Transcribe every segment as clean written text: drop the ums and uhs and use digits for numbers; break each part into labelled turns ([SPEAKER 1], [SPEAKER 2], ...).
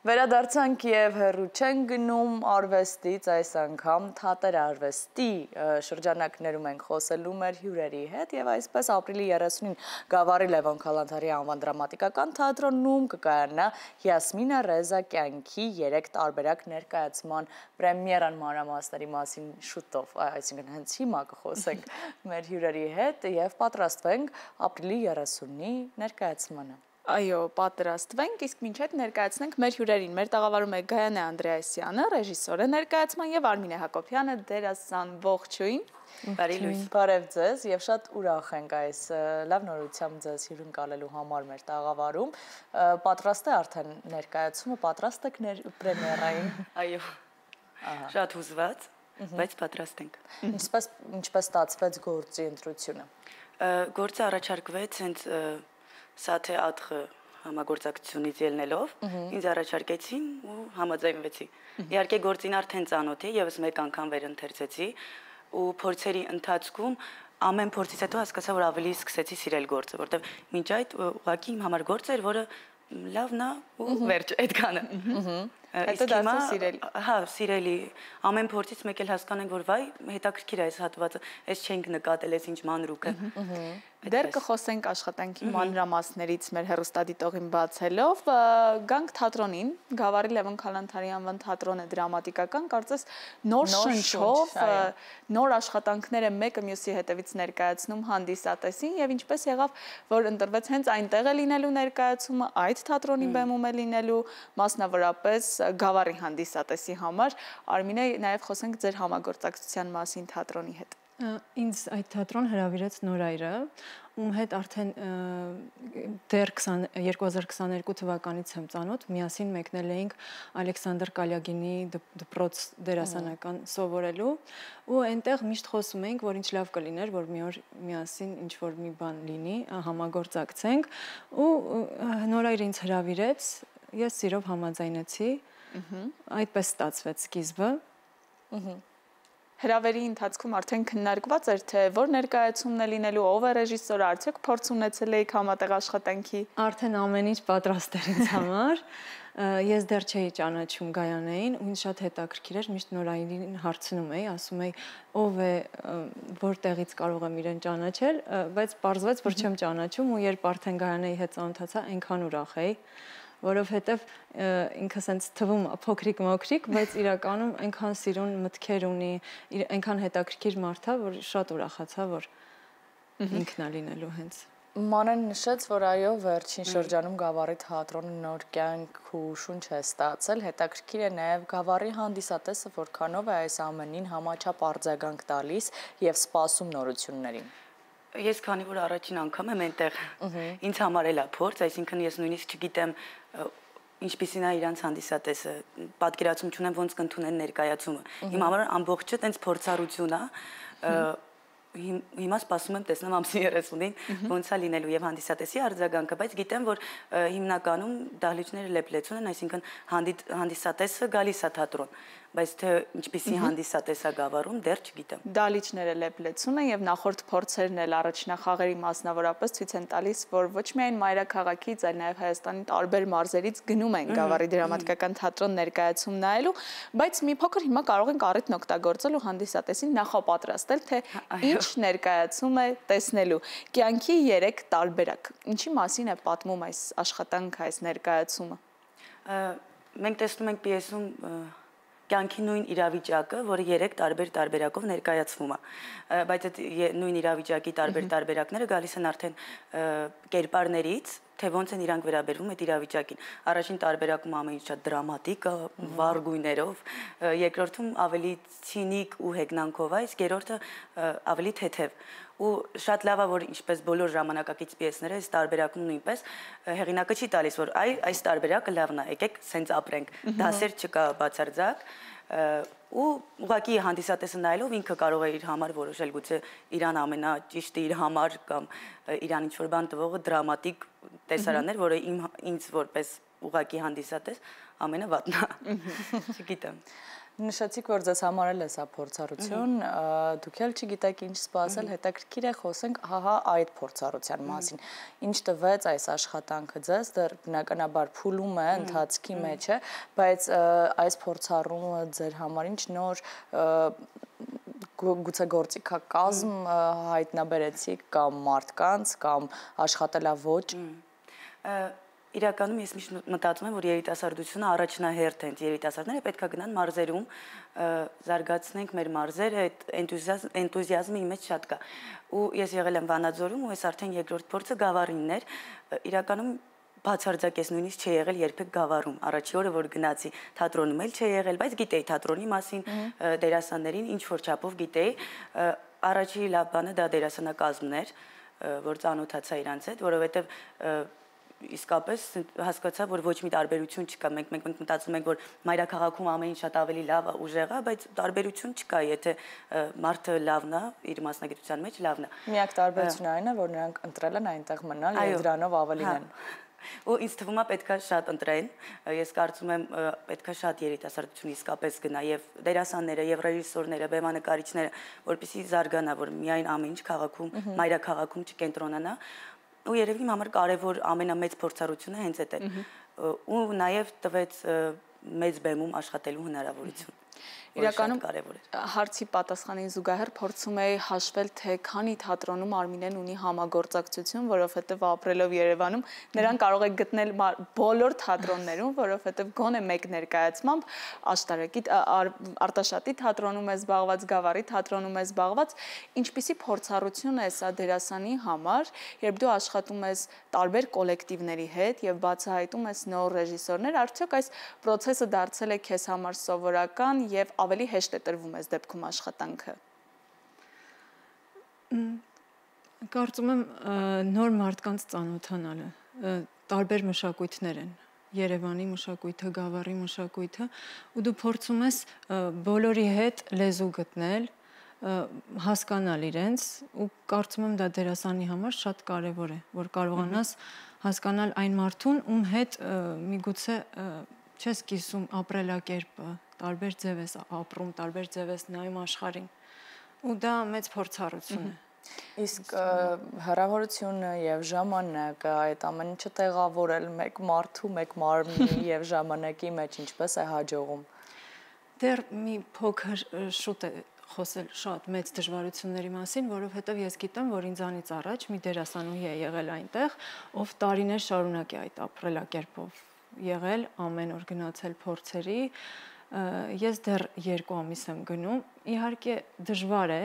[SPEAKER 1] Վերադարձանք և հեռու չեն գնում արվեստից այս անգամ թատեր արվեստի շրջանակներում ենք խոսելու մեր հյուրերի հետ և այսպես ապրիլի 30-ին Գավառի Լևոն Քալանթարի անվան դրամատիկական թատրոնում կկայանա Յասմինա Ռեզա կյանքի 3 տարբերակ ներկայացման պրեմիերան մանրամասների մասին շուտով, այսինքն հենց հիմա կխոսենք մեր հյուրերի հետ և պատրաստվենք ապրիլի 30-ի ներկայացմանը։
[SPEAKER 2] Այո, պատրաստվենք, իսկ մինչ այդ ներկայացնենք մեր հյուրերին։ Մեր տաղավարում է Գայանե Անդրեասյանը, ռեժիսոր է ներկայացման և Արմինե Հակոբյանը, դերասան, ողջույն։
[SPEAKER 1] Բարի լույս։ Բարև ձեզ և շատ ուրախ ենք այս լավ նորությամբ ձեզ հյուրընկալելու համար մեր տաղավարում։ Պատրաստ է արդեն ներկայացումը, պատրաստ եք պրեմիերային։
[SPEAKER 3] Այո, շատ հուզված, բայց պատրաստ ենք։
[SPEAKER 1] Ինչպես ստացվեց գործի ընտրությունը։
[SPEAKER 3] Գործը առաջարկվեց հենց Սաթե Աթխը համագործակցությունից ելնելով, ինձ առաջարկեցին ու համաձայնվեցի։ Իհարկե գործին արդեն ծանոթ էի, ևս մեկ անգամ վերընթերցեցի ու փորձերի ընթացքում ամեն փորձից հետո հասկացա, որ ավելի սկսեցի սիրել գործը, որտեղ մինչ այդ ուղղակի իմ համար գործ էր, որը լավն է ու վերջ այդքանը։
[SPEAKER 2] Հետո դարձավ սիրելի։
[SPEAKER 3] Հա, սիրելի։ Ամեն փորձից մեկ էլ հասկանենք, որ վայ, հետաքրքիր է այս հատվածը, այս չենք նկատել, այս ինչ մանրուկը։
[SPEAKER 2] Դեռ կխոսենք աշխատանքի մանրամասներից մեր հեռուստադիտողին բացելով, գանք թատրոնին, Գավառի Լևոն Քալանթարի անվան թատրոնը դրամատիկական, կարծես նոր շնչով, նոր աշխատանքները մեկը մյուսի հետևից ներկայացնում հանդիսատեսին եւ ինչպես եղավ, որ ընտրվեց հենց այնտեղ է լինելու ներկայացումը, այդ թատրոնի բեմում է լինելու, մասնավորապես Գավառի հանդիսատեսի համար։ Արմինե, նաև խոսենք ձեր համագործակցության մասին թատրոնի հետ։
[SPEAKER 4] Ինձ այդ թատրոն հրավիրեց Նորայրը, ում հետ արդեն դեռ 2022 թվականից եմ ծանոթ, միասին մեկնել էինք Ալեքսանդր Կալյագինի դպրոց դերասանական սովորելու ու այնտեղ միշտ խոսում էինք, որ ինչ լավ կլիներ, որ մի օր միասին ինչ-որ մի բան լինի, համագործակցենք ու Նորայրը ինձ հրավիրեց, ես սիրով համաձայնեցի, այդպես ստացվեց սկիզբը։
[SPEAKER 2] Հրավերի ընթացքում արդեն քննարկված էր, թե որ ներկայացումն է լինելու, ով է ռեժիսորը, արդյոք փորձ ունեցել եք համատեղ աշխատանքի։
[SPEAKER 4] Արդեն ամեն ինչ պատրաստ էր ինձ համար։ Ես դեռ չէի ճանաչում Գայանեին, ու ինձ շատ հետաքրքիր էր, միշտ Նորայրին հարցնում էի, ասում էի, ով է, որտեղից կարող եմ իրեն ճանաչել, բայց պարզվեց, որ չեմ ճանաչում ու երբ արդեն Գայանեի հետ ծանոթացա, այնքան ուրախ էի, որովհետև ինքը սենց թվում փոքրիկ-մոքրիկ, բայց իրականում այնքան սիրուն մտքեր ունի, այնքան հետաքրքիր մարդ է, որ շատ ուրախացա, որ ինքն է լինելու հենց։
[SPEAKER 1] Մանեն նշեց, որ այո, վերջին շրջանում Գավառի թատրոնը նոր կյանք ու շունչ է ստացել, հետաքրքիր է նաև Գավառի հանդիսատեսը, որքանով է այս ամենին համաչափ արձագանք տալիս և սպասում նորություններին։
[SPEAKER 3] Ես քանի որ առաջին անգամ եմ այնտեղ, ինձ համար էլ է փորձ, այսինքն ես նույնիսկ չգիտեմ ինչպիսին է իրանց հանդիսատեսը, պատկերացում չունեմ ոնց կընդունեն ներկայացումը։ Իմ համար ամբողջը տենց փորձառություն է, հիմա սպասում եմ տեսնեմ ամսի 30-ին ոնց է լինելու եւ հանդիսատեսի արձագանքը, բայց գիտեմ, որ հիմնականում դահլիճները լեփլեցուն են, այսինքն հանդիսատեսը գալիս է թատրոն, բայց թե ինչպիսի հանդիսատես է Գավառում, դեռ չգիտեմ։
[SPEAKER 2] Դահլիճները լեփլեցուն են եւ նախորդ փորձերն էլ առաջնախաղերի մասնավորապես ցույց են տալիս, որ ոչ միայն մայրաքաղաքից, այլ նաեւ Հայաստանի տարբեր մարզերից գնում են Գավառի դրամատիկական թատրոն ներկայացում նայելու, բայց մի փոքր հիմա կարող ենք առիթն օգտագործել ու հանդիսատեսին նախապատրաստել, թե ինչ ներկայացում է տեսնելու։ Կյանքի 3 տարբերակ։ Ինչի մասին է պատմում այս աշխատանքը, այս ներկայացումը։
[SPEAKER 3] Մենք տեսնում ենք պիեսում կյանքի նույն իրավիճակը, որը 3 տարբեր տարբերակով ներկայացվում է, բայց այդ նույն իրավիճակի տարբեր տարբերակները գալիս են արդեն կերպարներից, թե ոնց են իրանք վերաբերվում այդ իրավիճակին։ Առաջին տարբերակում ամեն ինչ շատ դրամատիկ է, վառ գույներով, երկրորդում ավելի ցինիկ ու հեգնանքով է, իսկ երրորդը ավելի թեթև։ Ու շատ լավ է, որ ինչպես բոլոր ժամանակակից պիեսները, այս տարբերակում նույնպես հեղինակը չի տալիս, որ այս տարբերակը լավն է, եկեք սենց ապրենք, դասեր չկա բացարձակ, ու ուղղակի հանդիսատեսը նայելով ինքը կարող է իր համար որոշել, գուցե իրան ամենաճիշտը իր համար կամ իրան ինչ-որ բան տվողը դրամատիկ տեսարաններ, որը ինձ որպես ուղակի հանդիսատես, ամենավատն է։ Չգիտեմ։
[SPEAKER 1] Նշեցիք, որ ձեզ համար էլ է սա փորձառություն, դուք էլ չգիտեք ինչ սպասել, հետաքրքիր է խոսենք հահա այդ փորձառության մասին։ Ինչ տվեց այս աշխատանքը ձեզ, դեռ բնականաբար փուլում է, ընթացքի մեջ է, բայց այս փորձառումը ձեր համար ինչ նոր գուցե գործիքակազմ հայտնաբերեցիք կամ մարդկանց կամ աշխատելաոճ։
[SPEAKER 3] Իրականում ես միշտ մտածում եմ, որ երիտասարդությունը առաջնահերթ են երիտասարդները, պետք է գնան մարզերում, զարգացնենք մեր մարզերը, այդ էնտուզիազմը իմ մեջ շատ կա։ Ու ես եղել եմ Վանաձորում, ու այս արդեն երկրորդ փորձը Գավառինն էր։ Իրականում բացարձակ ես նույնիսկ չի եղել երբեք Գավառում։ Առաջի օրը որ գնացի թատրոնում էլ չի եղել, բայց գիտեի թատրոնի մասին, դերասաններին ինչ որ չափով գիտեի։ Առաջի լավ բանը դա դերասանակազմն էր, որ ծանոթացա իրանց հետ, որովհետև իսկապես հասկացա, որ ոչ մի տարբերություն չկա։ Մենք մտածում ենք, որ մայրաքաղաքում ամեն ինչ շատ ավելի լավ է, ուժեղ է, բայց տարբերություն չկա, եթե մարդը լավն է, իր մասնագիտության մեջ լավն է։
[SPEAKER 1] Միակ տարբերությունը այն է, որ նրանք ընտրել են այնտեղ մնալ եւ դրանով ավելին են։
[SPEAKER 3] Ու ինձ թվում է պետքա շատ ընտրեն, ես կարծում եմ պետքա շատ երիտասարդություն իսկապես գնա եւ դերասանները եւ ռեժիսորները, բեմանկարիչները, որպեսզի զարգանա, որ միայն ամեն ինչ քաղաքում, մայրաքաղաքում չկենտրոնանա։ Ու երևի իմ համար կարևոր ամենամեծ փորձառությունը հենց այդ է։ Ու նաև տվեց մեծ բեմում աշխատելու հնարավորություն։
[SPEAKER 2] Իրականում հարցի պատասխանին զուգահեռ փորձում էի հաշվել, թե քանի թատրոնում Արմինեն ունի համագործակցություն, որովհետև ապրելով Երևանում նրան կարող է գտնել բոլոր թատրոններում, որովհետև գոնե մեկ ներկայացմամբ Աշտարակի Արտաշատի թատրոնում է զբաղված, Գավառի թատրոնում է զբաղված, ինչպիսի փորձառություն է սա դերասանի համար, երբ դու աշխատում ես տարբեր կոլեկտիվների հետ եւ բացահայտում ես նոր ռեժիսորներ, արդյոք այս process-ը դարձել է քեզ համար սովորական եւ ավելի հեշտ է տրվում այս դեպքում աշխատանքը։
[SPEAKER 4] Կարծում եմ նոր մարդկանց ծանոթանալը, տարբեր մշակույթներ են, Երևանի մշակույթը, Գավառի մշակույթը, ու դու փորձում ես բոլորի հետ լեզու գտնել, հասկանալ իրենց, ու կարծում եմ դա դերասանի համար շատ կարևոր է, որ կարողանաս հասկանալ այն մարդուն, ում հետ միգուցե չես կիսում ապրելակերպը, տարբեր ձև ես ապրում, տարբեր ձև ես նայում աշխարհին, ու դա մեծ փորձառություն է։
[SPEAKER 1] Իսկ հեռավորությունը եւ ժամանակը, այդ ամեն ինչը տեղավորել մեկ մարդու, մեկ մարմնի եւ ժամանակի մեջ ինչպես է հաջողում։
[SPEAKER 4] Դեռ մի փոքր շուտ է խոսել շատ մեծ դժվարությունների մասին, որովհետև ես գիտեմ, որ ինձանից առաջ մի դերասանուհի է եղել այնտեղ, ով տարիներ շարունակ է այդ ապրելակերպով եղել, ամեն օր գնացել փորձերի, ես դեռ 2 ամիս եմ գնում, իհարկե դժվար է,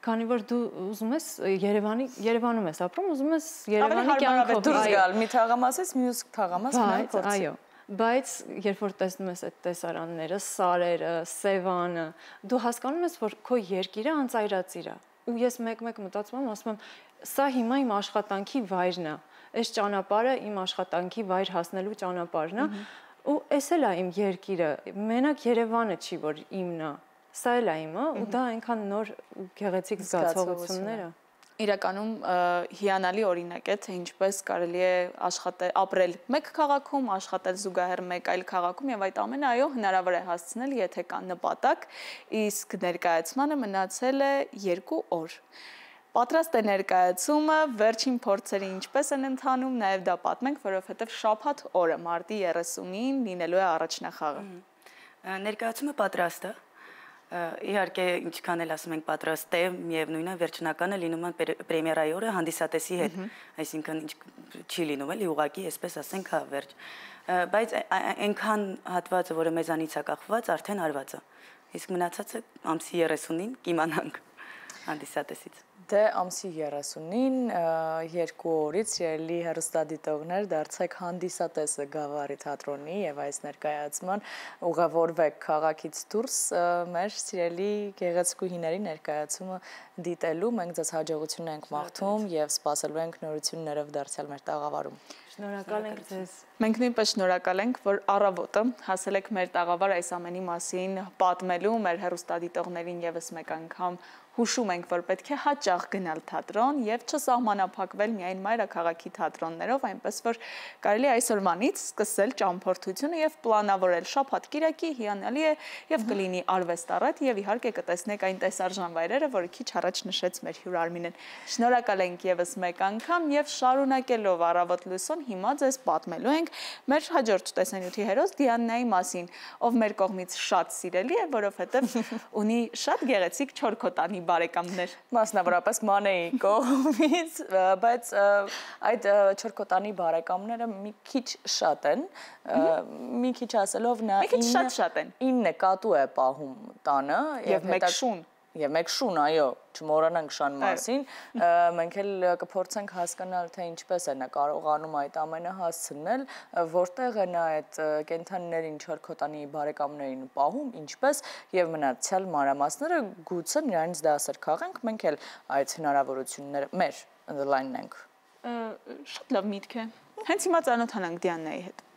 [SPEAKER 4] քանի որ դու ուզում ես Երևանում ես ապրում, ուզում ես Երևանի կյանքով
[SPEAKER 1] դուրս գալ, մի թաղամասից մյուս թաղամաս մնալ փորձի։
[SPEAKER 4] Այո, բայց երբ որ տեսնում ես այդ տեսարանները, սարերը, Սևանը, դու հասկանում ես, որ քո երկիրը անծայրածիր է։ Ու ես մեկ-մեկ մտածում եմ, ասում եմ, սա հիմա իմ աշխատանքի վայրն է։ Այս ճանապարհը իմ աշխատանքի վայր հասնելու ճանապարհն է, ու էս էլ է իմ երկիրը, մենակ Երևանը չի, որ իմն է, սա էլ է իմը, ու դա այնքան նոր ու գեղեցիկ զգացողություններ է։
[SPEAKER 2] Իրականում հիանալի օրինակ է, թե ինչպես կարելի է ապրել մեկ քաղաքում, աշխատել զուգահեռ մեկ այլ քաղաքում եւ այդ ամենը այո հնարավոր է հասցնել, եթե կա նպատակ, իսկ ներկայացմանը մնացել է 2 օր։ Պատրաստ է ներկայացումը, վերջին փորձերը ինչպես են ընթանում, նաև դա պատմենք, որովհետև շաբաթ օրը մարտի 30-ին լինելու է առաջնախաղը։
[SPEAKER 3] Ներկայացումը պատրաստ է։ Իհարկե, ինչքան էլ ասում ենք պատրաստ է, միևնույն է վերջնականը լինում է պրեմիերայի օրը հանդիսատեսի հետ, այսինքն չի լինում էլի ուղղակի, այսպես ասենք, հա վերջ։ Բայց այնքան հատվածը, որը մեզանից է կախված, արդեն արված է։ Իսկ մնացածը ամսի 30-ին կիմանանք հանդիսատեսից։
[SPEAKER 1] Դե ամսի 30-ին 2 օրից սիրելի հեռուստադիտողներ դարձեք հանդիսատեսը Գավառի թատրոնի եւ այս ներկայացման ուղևորվեք քաղաքից դուրս մեր սիրելի գեղեցկուհիների ներկայացումը դիտելու։ Մենք ձեզ հաջողություն ենք մաղթում եւ սպասելու ենք նորություններով դարձյալ մեր տաղավարում։
[SPEAKER 4] Շնորհակալ ենք ձեզ։
[SPEAKER 2] Մենք նույնպես շնորհակալ ենք, որ առավոտը հասել եք մեր տաղավար այս ամենի մասին պատմելու, մեր հեռուստադիտողներին եւս մեկ անգամ հուշում ենք, որ պետք է հաճախ գնալ թատրոն եւ չսահմանափակվել միայն մայրաքաղաքի թատրոններով, այնպես որ կարելի է այսօրվանից սկսել ճամփորդությունը եւ պլանավորել շաբաթ-կիրակի հիանալի է եւ կլինի արվեստառետ եւ իհարկե կտեսնեք այն տեսարժան վայրերը, որը քիչ առաջ նշեց մեր հյուր Արմինեն։ Շնորհակալ ենք եւս մեկ անգամ եւ շարունակելով Առավոտ լույսոն հիմա ձեզ պատմելու ենք մեր հաջորդ տեսանյութի հերոս Դիանայի մասին, ով մեր կողմից շատ սիրելի է, որովհետեւ ունի շատ գեղեցիկ չորքոտանի բարեկամներ։
[SPEAKER 1] Մասնավորապես Մանեի կողմից, բայց այդ չորքոտանի բարեկամները մի քիչ շատ են, մի քիչ ասելով նա 9 կատու է պահում տանը
[SPEAKER 2] եւ մեկ շուն։
[SPEAKER 1] Եվ մեկ շուն, այո, չմոռանանք շան մասին, մենք էլ կփորձենք հասկանալ, թե ինչպես է նա կարողանում այդ ամենը հասցնել, որտեղ է նա այդ կենդանիներին չորքոտանի բարեկամներին պահում, ինչպես եւ մնացյալ մանրամասները գուցե նրանց դասեր քաղենք, մենք էլ այդ հնարավորությունները մեր ընդլայնենք։
[SPEAKER 2] Շատ լավ միտք է։ Հենց հիմա ծանոթանանք Դիանայի հետ։